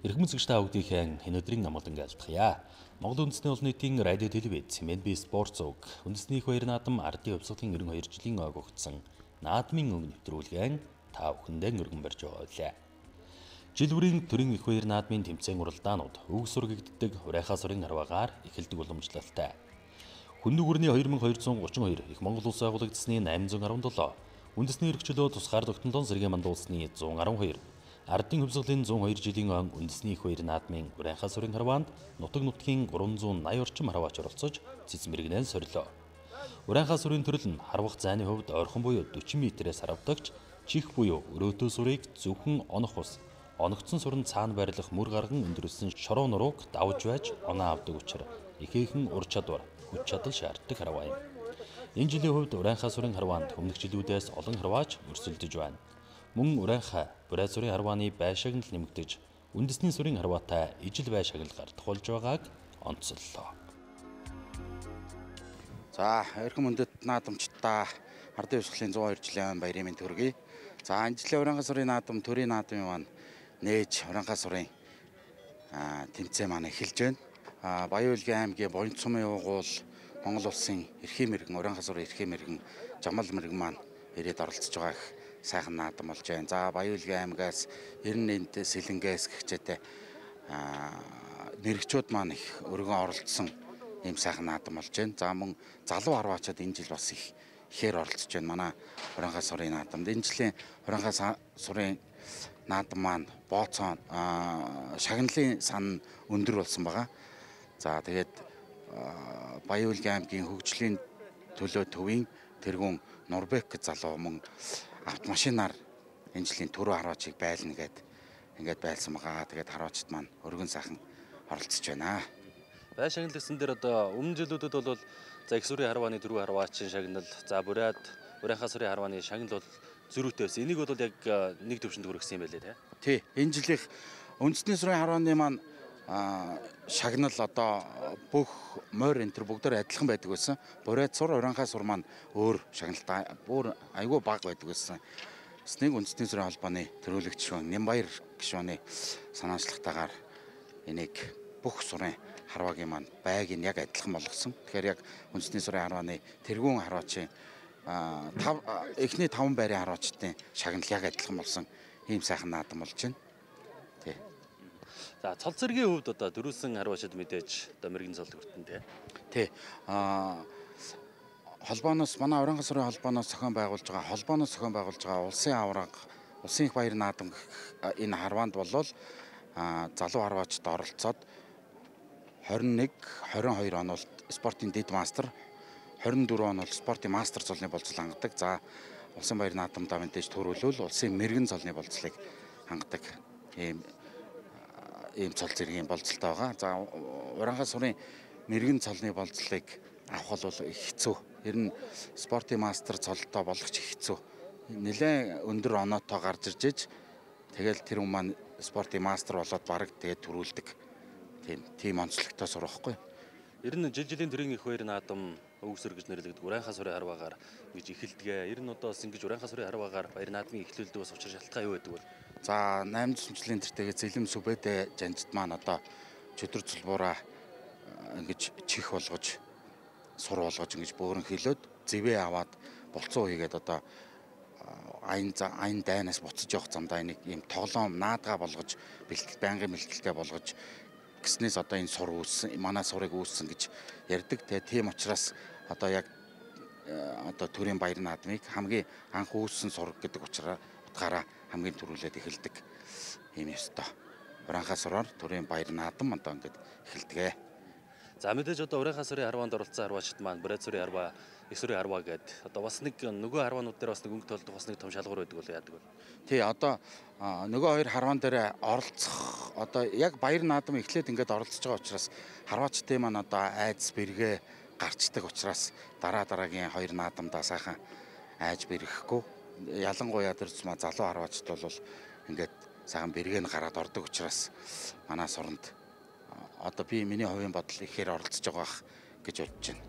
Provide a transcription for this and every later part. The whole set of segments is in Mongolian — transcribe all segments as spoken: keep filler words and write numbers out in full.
Эрхэм үзэгч та бүгдийн өнөөдрийн намгалан айлтгая. Монгол үндэсний олон нийтийн радио телевиз Эм Эн Би Спорт Зуг үндэсний их баяр наадам ардын хувьсгалын ирэн хоёр жилийн ойг өгсөн наадмын өнгө нэвтрүүлгэн та бүхэндээ өргөн барьж байгаа. Жил бүрийн төрийн их баяр наадмын тэмцээн уралдаанууд өг сургагддаг Урайхаа сурын арваагаар эхэлдэг уламжлалтай. Хүнд нүгүрний хоёр мың хоёр жүз гучин хоёр их Монгол улс байгуулагдсны найман зуун арван долоо, үндэсний эрхчлөө тусгаар тогтнолын сэргийн мандуулсны зуун арван хоёр, ардын хувьсгалын зуун хоёр жилийн он үндэсний их баяр наадмын Урайхаа сурын харваанд нутаг нутгийн гурван зуун наяа орчим харваач оролцож цэц мэрэгнээ сорилоо. Урайхаа сурын төрөл нь харвах зайны хувьд ойрхон буюу дөрвөн метрээс харвдагч чих буюу өрөөтөө сурыг зөвхөн онох ус, оногдсон сурын цаана байрлах мөр гарган өндөрлсөн шороо нурууг давж байж оноо авдаг учраас ихээхэн ур чадвар, хүч чадал шаарддаг харваа юм. Энэ жилийн хувьд Урайхаа сурын харваанд өмнөх жилүүдээс олон харваач өрсөлдөж байна. Мөн Урайхаа, Бурай сурын харвааны байшааг нь нэмэгдэж, үндэсний сурын харваатай ижил байшааг тохиолж байгааг онцоллоо. За, эрхэм үндэт наадамчдаа ардын хувьсгалын зуун хоёр жилийн баярын мэнд хүргэе. За, энэ жилийн Урайхаа сурын наадам, төрийн наадмын маань нээж Урайхаа сурын тэмцээн маань эхэлж байна. Баян-Улгийн аймгийн Боёнц сумын уугуул Монгол улсын эрхийн мэргэн, Урайхаа сурын эрхийн мэргэн Жамал мэргэн маань ирээд оролцож байгаа их сайхан наадам болж байна. За, Баян-Улгийн аймгаас Эрен энд Сэлэнгээс гихчээтэй мэрэгчүүд маань их өргөн оролцсон ийм сайхан наадам болж байна. За, мөн залуу харваачид энэ жил бас их ихээр оролцож байна. Манай Урайхаа сурын наадамд энэ жилийн Урайхаа сурын наадам маань бооцоо шагналын сан өндөр болсон байгаа. За, тэгээд Баян-Улгийн аймгийн хөгжлийн төлөө төвийн тэргүүн Нурбек залуу мөн автомашинаар энэ жилийн түрүү харваачийг байлна гэд ингээд байлсан байгаа. Тэгээд харваачд маань өргөн сайхан оролцож байна. Байшаглалсан дээр одоо өмнө жилүүдэд бол за их сурын харвааны түрүү харваачин шагнал, за Бурайд Урайхаа сурын харвааны шагнал бол зөрүүтэй байсан. Энийг бол яг нэг төвшөнд хүргэсэн юм байлээ тий. Тий, энэ жилийнх үндэсний сурын харвааны маань шагнал одоо бүх морь энэ төр бүгдээр адилхан байдаг байсан. Бурайд сур, Урайхаа сур маань өөр шагналтай бүр айгүй бага байдаг байсан. Эснийг үндэсний сурын холбооны төрөлөгч гишүүн Нямбаяр гишүүний санаачлагтайгаар энийг бүх сурын харваагийн маань байг нь яг адилхан болгосон. Тэгэхээр яг үндэсний сурын харвааны тэргүүн харваачийн тав эхний таван байрын харваачдын шагнал яг адилхан болсон ийм сайхан наадам болж байна. Тий. За, цол цэргийн хувьд одоо дөрвөлсөн харваачид мэдээж одоо мэрэгэн цолд хүртэн тий. Тий. Аа холбооноос манай Урайхаа сурын холбооноос зохион байгуулж байгаа холбооноос зохион байгуулж байгаа улсын авраг, улсын их баяр наадам энэ харваанд болвол залуу харваачд оролцоод двадцать и один, двадцать и хоёр он бол спортын дэд мастер, двадцать и четыре он бол спортын мастер цолны болцол хангадаг. За, улсын баяр наадамдаа мэдээж төрүүлвэл улсын мэрэгэн цолны болцлыг хангадаг ийм ийм цол зэргийн болцолтой байгаа. За, Урайхаа сурын мэрэгэн цолны болцлыг авах бол их хэцүү. Ер нь спортын мастер цолтой болох ч их хэцүү. Нэлээд өндөр оноотой гарч ирж иж тэгэл тэр хүн маань спортын мастер болоод бараг тэгээд төрүүлдэг. Тийм тийм онцлогтой сур واخгүй. Ер нь жил жилийн төрийн их баяр наадам өг сөр гэж нэрлэгддэг Урайхаа сурын харваагаар гэж эхэлдэг. Ер нь одоо бас ингэж Урайхаа сурын харваагаар баяр наадмын эхлүүлдэг бас учир шалтгаан юу байдаг вэ? За, найман жилийн тэртэйгээ Зэлэм Сүбэдэ жанжид маань одоо чөдөр цулбуураа ингэж чих болгож сур болгож ингэж бөөрөн хилээд зэвээ аваад болцоо хийгээд одоо айн айн дайнаас буцаж явах замдаа нэг ийм тоглоом наадгаа болгож бэлтгэл байнгын бэлтгэлтэй болгож гиснээс одоо энэ сур үүссэн, манай сурыг үүссэн гэж ярьдаг. Тэгээ тийм учраас одоо яг одоо төрийн баяр наадмыг хамгийн анх үүссэн сур гэдэг утгаараа хамгийн түрүүлээд эхэлдэг ийм ёстой. Урайхаа сураар төрийн баяр наадам одоо ингээд эхэлдэг. За, мэдээж одоо Урайхаа сурын харваанд оролцсон харваачд маань Бурай сурын харваа, их сурын харваа гэдэг одоо бас нэг нөгөө харваанууд дээр бас нэг өнгө толдох бас нэг том шалгуур байдаг бол яадаг вэ? Тий, одоо нөгөө хоёр харваан дээр оролцох одоо яг баяр наадам эхлээд ингээд оролцож байгаа учраас харваачдын маань одоо айдас бэргээ гарчдаг учраас дараа дараагийн хоёр наадамдаа сайхан айж бэрхэхгүй. Ялангуяа тэр зма залуу харваачд бол ингээд сайхан бэргээ нь гараад ордог учраас манай суранд одоо би миний хувийн бодол ихээр оролцож байгаа гэж бодож байна.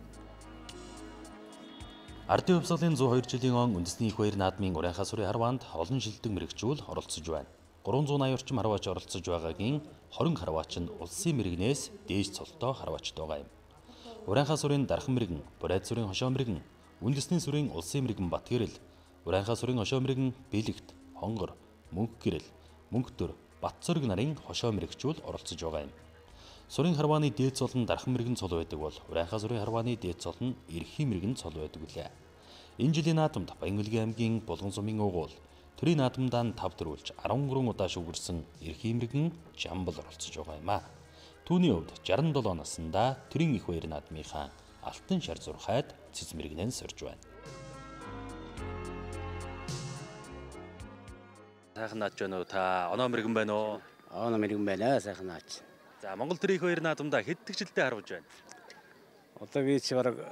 Ардын хувьсгалын зуун хоёр жилийн он үндэсний их баяр наадмын Урайхаа сурын харваанд олон шилдэг мэрэгчүүл оролцож байна. гурван зуун аяар орчим харваач оролцож байгаагийн хорин харваач нь улсын мэрэгнээс дээж цолтой харваачд байгаа юм. Урианхай сүрийн Дархан мэрэгэн, Бурайд сүрийн Хошоо мэрэгэн, Үндэсний сүрийн Улсын мэрэгэн Батгэрэл, Урианхай сүрийн Хошоо мэрэгэн Бэлэгт, Хонгор, Мөнх гэрэл, Мөнхтөр, Батцорг нарын хошоо мэрэгчүүл оролцож байгаа юм. Сүрийн харвааны дээд цол нь Дархан мэрэгэн цол байдаг бол Урианхай сүрийн харвааны дээд цол нь Эрхийн мэрэгэн цол байдаг үлээ. Энэ жилийн наадамд Баян-Улгийн аймгийн Булган сумын уугуул төрийн наадамдаа тав төрүүлж арван гурван удаа шүүгэрсэн Эрхийн мэрэгэн Жамбал оролцож байгаа юм а. Түүний хувьд шестдесет и севен наснда төрийн их баяр наадмынхаа алтан шар зурхайд цэц мэрэгнэн сорж байна. Сайхан наадж байна уу та? Оноо мэрэгэн байна уу? Оноо мэрэгэн байна, сайхан наадж. За Монгол төрийн их баяр наадамдаа хэд тэгжилтэй харуулж байна? Одоо би чи бараг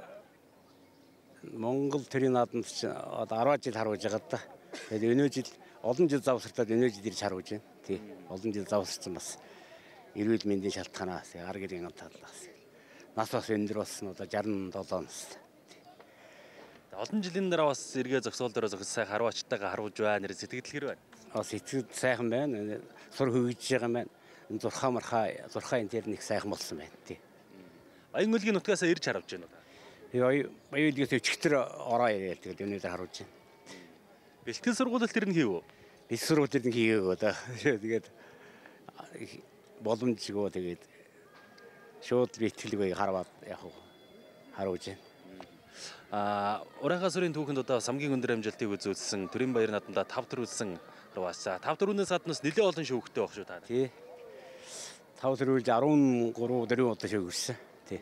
Монгол төрийн наадамд чи одоо арван жил харуулж байгаа да. Тэгээд өнөө жил олон жил завсартаад өнөө жил ирж харуулж байна. Тий. Олон жил завсарсан бас эрүүл мэндийн шалтгаанаас ар гэрийн талаас нас бас өндөр болсон одоо шестьдесят и севен нас. Олон жилийн дараа бас эргээ зөксөөл дээр зөкс сайхан харваачтайгаа харуулж байна. Нэр сэтгэл хэр байна? Бас сэтгэл сайхан байна. Сур хөвгөж байгаа маань зурхаа мархаа зурхаа энэ тэр нэг сайхан болсон байна тий. Баян-Улгийн нутгаас ирж харуулж байна уу? Би Баян-Улгээс өчигдөр ороо ирээд тэгээд өнөөдөр харуулж байна. Бэлтгэл сургуулилт тэр нь хийв үү? Бэлтгэл сургуулилт нь хийгээгөө да. Тэгээд боломжгүй тэгээд шууд бэлтгэлгүй хараад яг харуулж байна. А Урианхай сүрийн түүхэнд одоо самгийн өндөр амжилтыг үзүүлсэн төрийн баяр наадамдаа тав төрүүлсэн харваачаа. тав төрүүнээс гаднаас нэлээд олон шүүхтэй баг шүү та. Тий. тав төрүүлж арван гурван дөрвөн удаа шүүгэрсэн. Тий.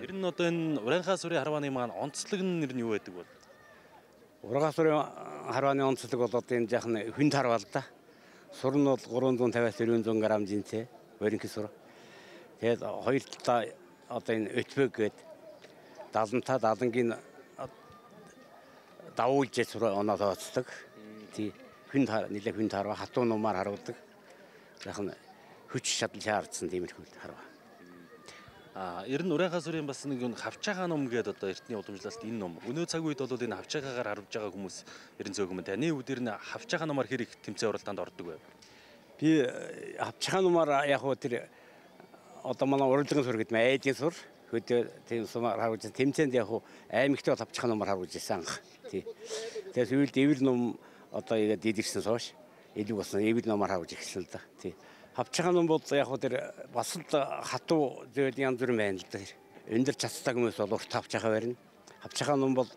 Ер нь одоо энэ Урианхай сүрийн харвааны маань онцлог нь нэр нь юу байдаг бол? Урианхай сүрийн харвааны онцлог бол одоо энэ жаахан хүнд харвал да. Сур нь бол гурван зуун тавиас дөрвөн грамм жинтэй өрөнхий сур. Тэгээд хоёр талаа одоо энэ өтбөг гээд далантаа далангийн давуулж сур оноо тооцдог. Тий. Хүнд нэлээ хүнд харва хатуу нумаар харуулдаг. Жаахан хүч чадал шаардсан тиймэрхүү харва. А ер нь Урианхай сүрийн бас нэг хавчаагаа ном гэдэг одоо эртний уламжлалт энэ ном. Өнөө цаг үед бол энэ хавчаагаагаар харуулж байгаа хүмүүс ерэн зөөгөн. Таны үед ер нь хавчаагаа номоор хэр их тэмцээн уралдаанд ордог вэ? Би хавчаагаа номоор яг хөө тэр одоо манай урлагийн сур гэдэг нь айдын сур. Хөдөө тийм сумаар харуулж тэмцээнд яг хөө аймагтай хавчаагаа номоор харуулж ирсэн анх. Тий. Тэгээд үед эвэр ном одоо яг дидэрсэн сууш. Илүү болсон эвэр номоор харуулж ирсэн л да. Тий. Хавчаагаа ном бол яг хөө тэр бас л хатуу зүйл янз бүр байна л да. Өндөр цацтай хүмүүс бол урт хавчаагаа барина. Хавчаагаа ном бол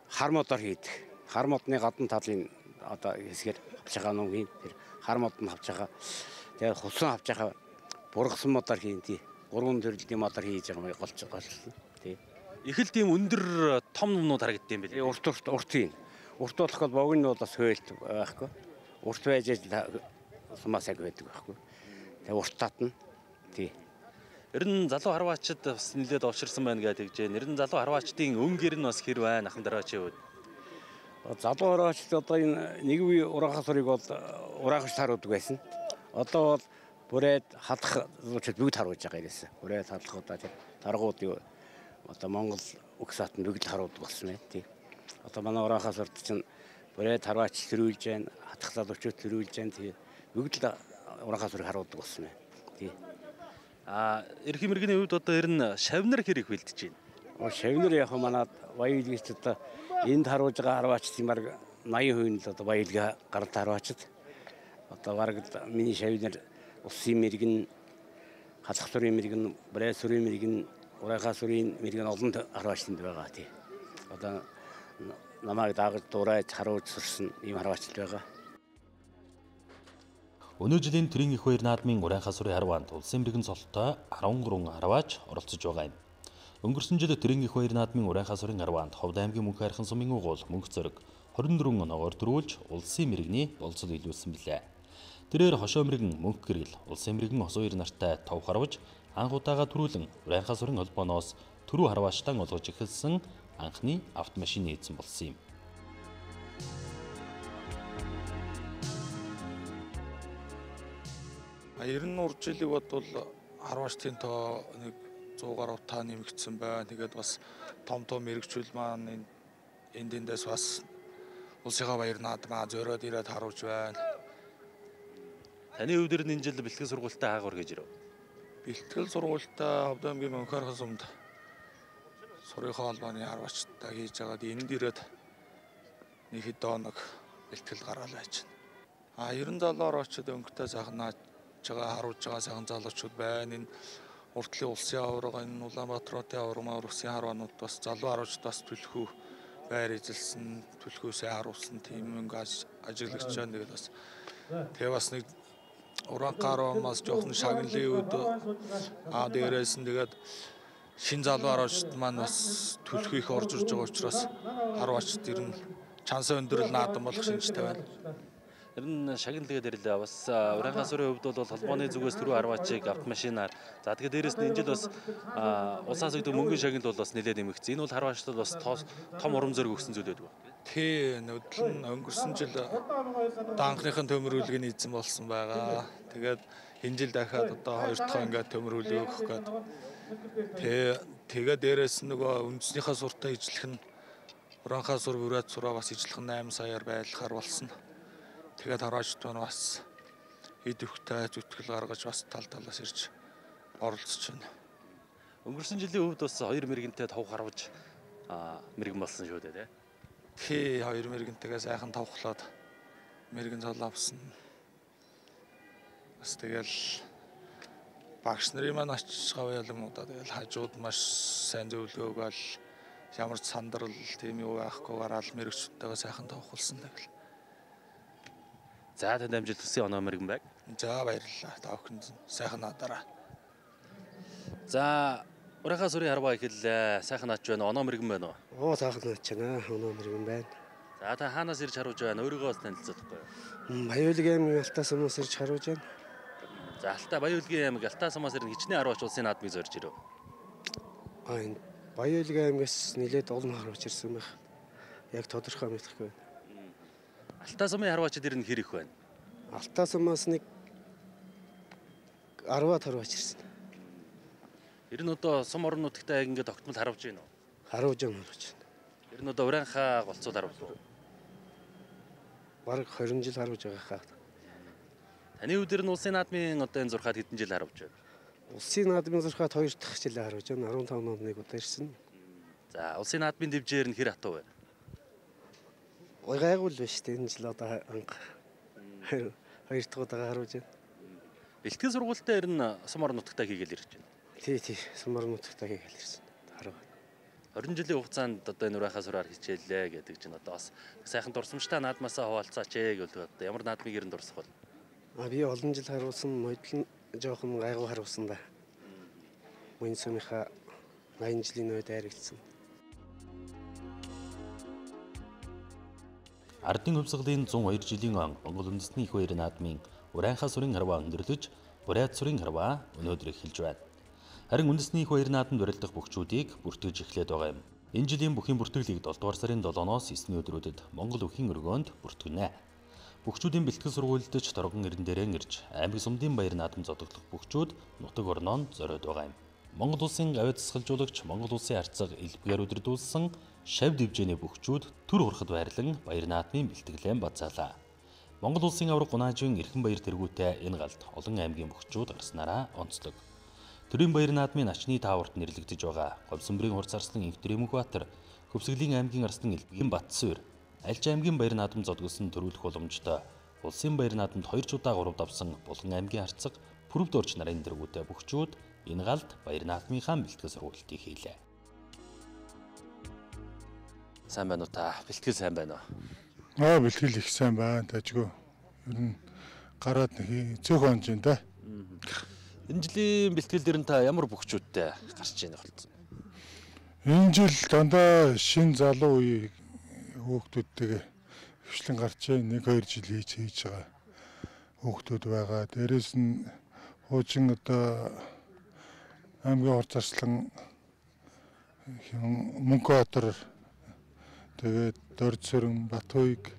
хар модоор хийдэг. Хар модны гадна талын одоо хэсгээр хавчаагаа ном хийн. Тэр хар мод нь хавчаагаа. Тэгээд хусан хавчаагаа бургасан модоор хийн тий. Гурван төрлийн модоор хийж байгаа юм голч голчсон. Тий. Их л тийм өндөр том номнууд харагддаг юм билээ. Урт урт урт юм. Урт болох бол богино нь бол бас хөөлт байхгүй. Урт байж сумаас яг байдаг байхгүй. Тэгээ урт татна. Тий. Ер нь залуу харваачид бас нэлээд овширсан байна гэж тэгж. Ер нь залуу харваачдын өнгөр нь бас хэр байна ахын дараачийн үед. Залуу харваачд одоо энэ нэг үе Урианхай сүрийг бол ураахч харуулдаг байсан. Одоо бол Бурайд халах зүүчд бүгд харуулж байгаа юм. Бурайд халах удаа тэр таргууд юу одоо Монгол үг саатанд бүгд харуулдаг болсон байна тий. Одоо манай Урианхай сүрд чинь Бурайд харваач төрүүлж байна, хатах залуучууд төрүүлж байна тий. Бүгд л Урианхай сүрийг харуулдаг болсон байна тий. А Эрхийн мэргэний хувьд одоо ер нь шавнар хэр их бэлдэж байна? Шавнар яг манад Баян-Улгийч одоо энд харуулж байгаа харваачдын баг восемь хувь нь л одоо Баян-Улгийн гаралт харваачд. Одоо бараг миний шавнар Улсын мэргэн, халах сүрийн мэргэн, Бурайд сүрийн мэргэн, Урианхай сүрийн мэргэн олон харваачданд байгаа тий. Одоо намайг даагаж дурайж харуулж сурсан ийм харваачд байгаа. Өнөө жилийн төрийн их баяр наадмын Урианхай сүрийн харваанд улсын мэргэн цолтой арван гурван харваач оролцож байгаа юм. Өнгөрсөн жил төрийн их баяр наадмын Урианхай сүрийн харваанд Ховд аймгийн Мөнх хайрхан сумын уугуул Мөнх зориг хорин дөрвөн оноогоор дөрвүүлж улсын мэргэний болцол илүүлсэн билээ. Тэрээр хошоо мэргэн Мөнх гэрэл улсын мэргэн Хос хоёр нартай тов харваж анх удаага төрүүлэн Урианхай сүрийн холбооноос түрүү харваачтан олгож эхэлсэн анхны автомашины эзэн болсон юм. Ер нь урд жилиг бодвол харваачдын тоо нэг сто гаруй та нэмэгдсэн байна. Тэгээд бас том том мэрэгчүүл маань энд эндээс бас улсынхаа баяр наадмаа зориод ирээд харуулж байна. Таны хувьд энэ жил бэлтгэл сургуультаа хаагаар гэж ирв. Бэлтгэл сургуультаа Ховд аймгийн Мөнхөр хосомд сургуулийн холбооны харвачтай хийж байгаад энд ирээд нэг хэд нэг бэлтгэл гаргаал байж байна. А ерөн залуур очоод өнгөтэй сайхан нааж байгаа харуулж байгаа сайхан залуучууд байна. Энэ уртлын улсын аварга, энэ Улаанбаатарын аварга, улсын харванууд бас залуу харуулж бас түлхүү байр эзэлсэн, түлхүүсээ харуулсан тийм өнгө ажиглагч байна. Тэгээд бас тэгээ бас нэг Уранхаармаас жоохон шагналын үед аа дээрээс нь тэгээд шин залуу харуулжт маань бас түлхүү их орж ирж байгаа учраас харвачд ер нь чансаа өндөрлөл наадам болох шинжтэй байна. Ер нь шагналгаа дээрлээ бас Уранхаа сүрийн хувьд бол холбооны зүгээс түрүү арвачийг автомашинаар за тэгээд дээрэс нь энэ жил бас улсаас өгдөг мөнгөний шагнал бол бас нэлээд нэмэгдсэн. Энэ бол харвачтад бас том урам зориг өгсөн зүйл байдаг. Тий, нүдл нь өнгөрсөн жил данхныхын төмөрүүлгийг эзэн болсон байгаа. Тэгээд энэ жил дахиад одоо хоёр дахь ингээд төмөрүүлэг өгөх гээд. Тэгээ тэгээд дээрэс нь нөгөө үндэснийхээ суртаа ижлэх нь Уранхаа сур бүрээд сураа бас ижлэх нь восемь саяар байлгахаар болсон. Тэгээд хараагчд бас хэд өвхтэй зүтгэл гаргаж бас тал талаас ирж оролцож байна. Өнгөрсөн жилийн хувьд бас хоёр мэрэгэнтэй тав харваж мэрэгэн болсон шүү дээ, тий? Тий, хоёр мэрэгэнтэйгээ сайхан тавхлаад мэрэгэн цол авсан. Бас тэгэл багш нарын маань очиж гавь ялангуудаа тэгэл хажууд маш сайн зөвлөгөө өгөөл ямар ч сандрал тийм юу байхгүйгээр аль мэрэгчтэйгээ сайхан тавхулсан тэгэл. За танд амжилт хүсье оноо мэрэгэн байг. За баярлалаа. Та бүхэнд сайхан надараа. За Уранхаа сүрийн харваа ихэллээ. Сайхан наач байна. Оноо мэрэгэн байна уу? Оо сайхан наач байна. Оноо мэрэгэн байна. За та хаанаас ирж харуулж байна? Өөрийгөө бас танилцуулахгүй юу? Баяулгийн аймгийн Алтай сумаас ирж харуулж байна. За Алтай Баяулгийн аймаг Алтай сумаас ирэн хичнээн харваач улсын наадмыг зорж ирв. Аа энэ Баяулгийн аймгаас нэлээд олон харваач ирсэн байх. Яг тодорхой мэдэхгүй байна. Алтай сумын харваачид ирнэ хэр их байна? Алтай сумаас нэг десять харваач ирсэн. Ер нь одоо сум орон нутагтаа яг ингээд тогтмол харуулж байна уу? Харуулж юм харуулж байна. Ер нь одоо Уранхаа голцоод харуулж байна. Бараг двадцать жил харуулж байгаа хаа. Таны хувьд нь улсын наадмын одоо энэ зурхаад хэдэн жил харуулж байна? Улсын наадмын зурхаад хоёр дахь жилээр харуулж байна.15 онд нэг удаа ирсэн. За улсын наадмын дэвжээр нь хэр хатуу байна? Ой гайгүй л байна шүү дээ. Энэ жил одоо анх хоёр дахь удаа харуулж байна. Бэлтгэл сургуультаа ер нь сум орон нутагтаа хийгээл ирж байна. Тий, тий. Сум орон нутагтаа хийгээл ирсэн. Хараа. двадцать жилийн хугацаанд одоо энэ Уранхаа сураар хичээллээ гэдэг чинь одоо бас сайхан дурсамжтай наадмаасаа хуваалцаач ээ гэж одоо ямар наадмыг ер нь дурсах бол? А би олон жил харуулсан, модлон жоохон гайгүй харуулсан да. Мөн сумынхаа найман жилийн үед айрагдсан. Ардын хувьсгалын one oh two жилийн он Монгол үндэсний их баяр наадмын Уранхаа сүрийн харваа өндөрлөж, Бурайд сүрийн харваа өнөөдөр эхэлж байна. Харин үндэсний их баяр наадамд урилдах бүгчүүдийг бүртгэж эхлээд байгаа юм. Энэ жилийн бүхийн бүртгэлийг seven дугаар сарын sevenоос nine өдрүүдэд Монгол өвхийн өргөөнд бүртгэнэ. Бүгчүүдийн бэлтгэл сургуульдж торгон ирэн дээрээ ирж аймаг сумдын баяр наадам зодоглох бүгчүүд нутаг орноо зориод байгаа юм. Монгол улсын гавь засгалжуулагч Монгол улсын арцаг элбгээр өдөрдүүлсэн шав дэвжээний бүгчүүд төр хурахад байрлан баяр наадмын бэлтгэлэн бацаалаа. Монгол улсын авраг Гунаажийн эрхэм баяр тэргүүтэй энэ галд олон аймгийн бүгчүүд гарснараа онцлог. Төрийн баяр наадмын начны тааварт нэрлэгдэж байгаа Говьсөнбөрийн хурц арслан Инхтэр Эмхбаатар, Хөвсгөлийн аймгийн арслан Элбэгийн Батсуур, Альж аймгийн баяр наадам зодгосон төрүүлэх боломжтой улсын баяр наадамд хоёр ч удаа гурав давсан Булган аймгийн арцаг Пүрэв дорч нарын дэргүүтэй бүгчүүд энэ галд баяр наадмынхаа бэлтгэл сургалтыг хийлээ. Сайн байна уу та? Бэлтгэл сайн байна уу? Аа бэлтгэл их сайн байна. Тажгүй. Ер нь гараад нэг цөөхөн онж байна да. Энэ жилийн бэлтгэл дээр нь та ямар бүгчүүдтэй гарч ийнэ болсон? Энэ жил дандаа шин залуу үе хүүхдүүдтэйгээ хвшлэн гарч нэг хоёр жил хийж хийж байгаа хүүхдүүд байгаа. Дээрээс нь хуучин одоо аймгийн хурц арслан Мөнхбаатар тэгээд Дордсөрөн, Батуйг,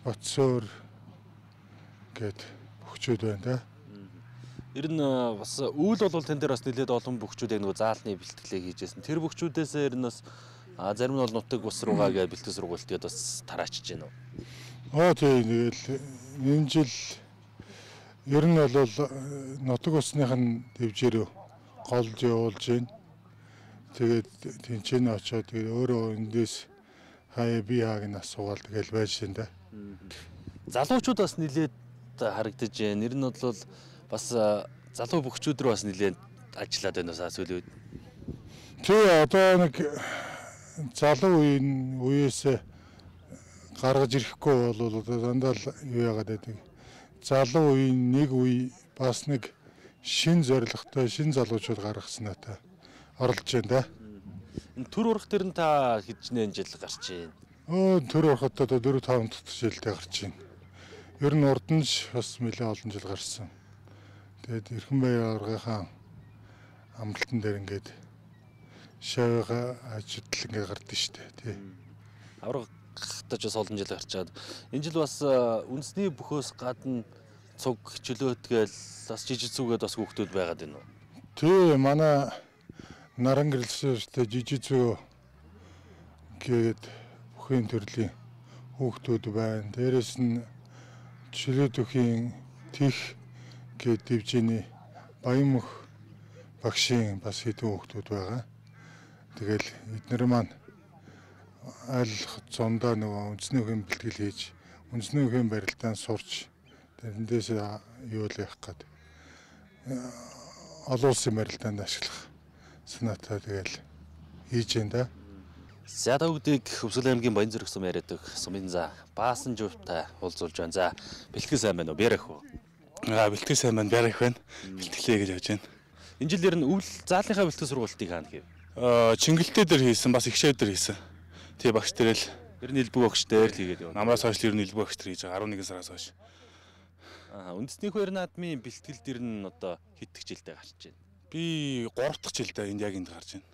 Батсуур гэд бүгчүүд байна да. Ер нь бас үйл бол тэн дээр бас нэлээд олон бүгчүүд яг нөгөө заалны бэлтгэлээ хийжсэн. Тэр бүгчүүдээс ер нь бас зарим нь бол нутаг ус руугаа гэ бэлтгэл сургуульд бас тараачж байна уу? Аа тийм тэгэл энэ жил Ер нь бол нутаг усных нь дэвжээрөө голж явуулж байна. Тэгээд тэнцэн очоод тэгээд өөрөө эндээс хаяа би хааг нь асуугаал тэгэл байж байна да. Залуучууд бас нилээд харагдаж байна. Нэр нь бол бас залуу бөхчүүд рүү бас нилээд ажиллаад байна уу сүүлийн үед? Тэ одоо нэг залуу үеийн үеэс гаргаж ирэхгүй бол одоо дандаа л юу яагаад байдаг. Залуу үеийн нэг үе бас нэг шин зорилготой шин залуучууд гаргасан та оролж байна да. Энэ төр урах дээр нь та хэднээ жил гарч байна? Оо төр урахад одоо дөрөв таван дахь жилдээ гарч байна. Ер нь урд нь ч бас нэлээд олон жил гарсан. Тэгээд Эрхэнбаяр аваргынхаа амралтан дээр ингээд шавьгаа ажилтал ингээд гардаг штэ тий. Аваргахтаж бас олон жил гарчаад энэ жил бас үндэсний бөхөөс гадна цуг чөлөөтгээл бас жижиг зүгээд бас хүүхдүүд байгаад байна уу? Тий манай наран гэрэлстэй жижиг зүг гээд бүхэн төрлийн хүүхдүүд байна. Дээрээс нь чөлөөтөхийн тех гээд дивжиний Баянмөх багшийн бас хэдэн хүүхдүүд байгаа. Тэгэл эдгээр маань аль зундаа нөгөө үндэсний үеийн бэлтгэл хийж үндэсний үеийн барилдаанд сурч тэндээс юу л явах гээд олон улсын барилдаанд ашиглах санаатай тэгэл хийж байна да. За бүгдийг Өвсгөл аймгийн Баянзүрх сум яриадаг сумын за баасан жуйтай уулзуулж байна. За бэлтгэл сайн байна уу? Бярах уу? Аа бэлтгэл сайн байна. Бярах байна. Бэлтгэлээ гэж явж байна. Энэ жил ер нь өвл заалынхаа бэлтгэл сургалтыг хаана хийв? Аа Чингэлтэй дээр хийсэн, бас Игшээ дээр хийсэн. Тий багш дээр л ер нь элбэг багш дээр л хийгээд явна. Намраас хойш ер нь элбэг багш дээр хийж байгаа. арван нэгэн сараас хойш. Аа үндэсний хоёр наадмын бэлтгэл дээр нь одоо хэд их жилдээ гарч байна? Би гурав дахь жилдээ энд яг энд гарч байна.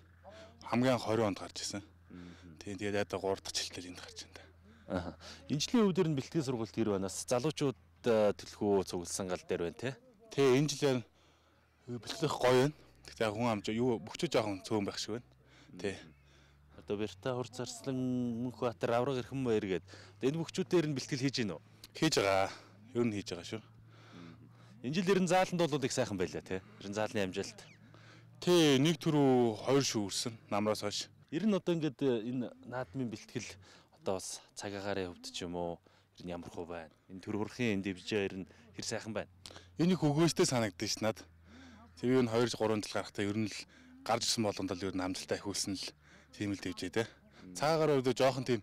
Хамгийн анх двадцать онд гарч ирсэн. Тийм тэгээд одоо гурав дахь жилдээ энд гарч байна. Аа. Энэ жилийн өвдөр нь бэлтгэл сургалт гэр банаас залуучууд төлхөө цугласан гал дээр байна те. Тий энэ жилээр бэлтгэх гоё байна. Тэгтээ хүн амж юу бөхчөө жоохон цөөн байх шиг байна. Тий. Одоо Бэрта Хур Зарслан Мөнхбаатар Авраг Эрхэнбаяр гээд энэ бөхчүүдээр нь бэлтгэл хийж гинөө. Хийж байгаа. Ер нь хийж байгаа шүү. Энэ жил ер нь зааланд бол их сайхан байлаа те. Ер нь заалны амжилт. Тий нэг түрүү хоёр шүүрсэн намраас хойш. Ер нь одоо ингээд энэ наадмын бэлтгэл одоо бас цаг агарын хувьд ч юм уу ер нь ямар хөө байна? Энэ төр хурхийн энэ дивжээ ер нь хэр сайхан байна? Энийг өгөөстэй санагдсан ш над. Тэр юу н хоёр гурван жил гарахтаа ер нь л гарч ирсэн болгонд л ер нь амжилтаа ихүүлсэн л тийм л дивжээ те. Цагаагаар өвдөө жоохон тийм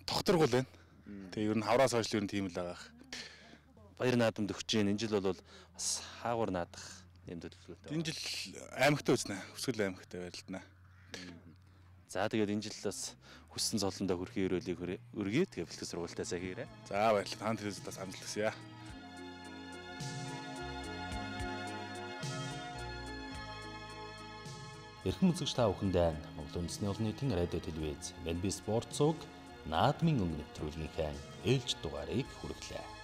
тогтворгол байна. Тэгээ ер нь хавраас хойш ер нь тийм л байгаа. Баяр наадамд өгч जैन. Энэ жил бол бас хаагур наадах юм төлөвлөгөөтэй. Энэ жил аймагтаа үзнэ. Өвсгөл аймагтаа байрлална. За тэгээд энэ жил бас хүссэн цолондоо хүрхийн өрөөлийг өргөе. Тэгээд бэлтгэл сургалтаасаа хийрээ. За баярлалаа. Таан телевизээс амжилт хүсье. Эрхэм үзэгч та бүхэндээ Монгол үндэсний олон нийтийн радио телевиз Эн Би спорт цуг наадмын өнгө нэвтрүүлгийнхээ ээлж дугаарыг хүргэлээ.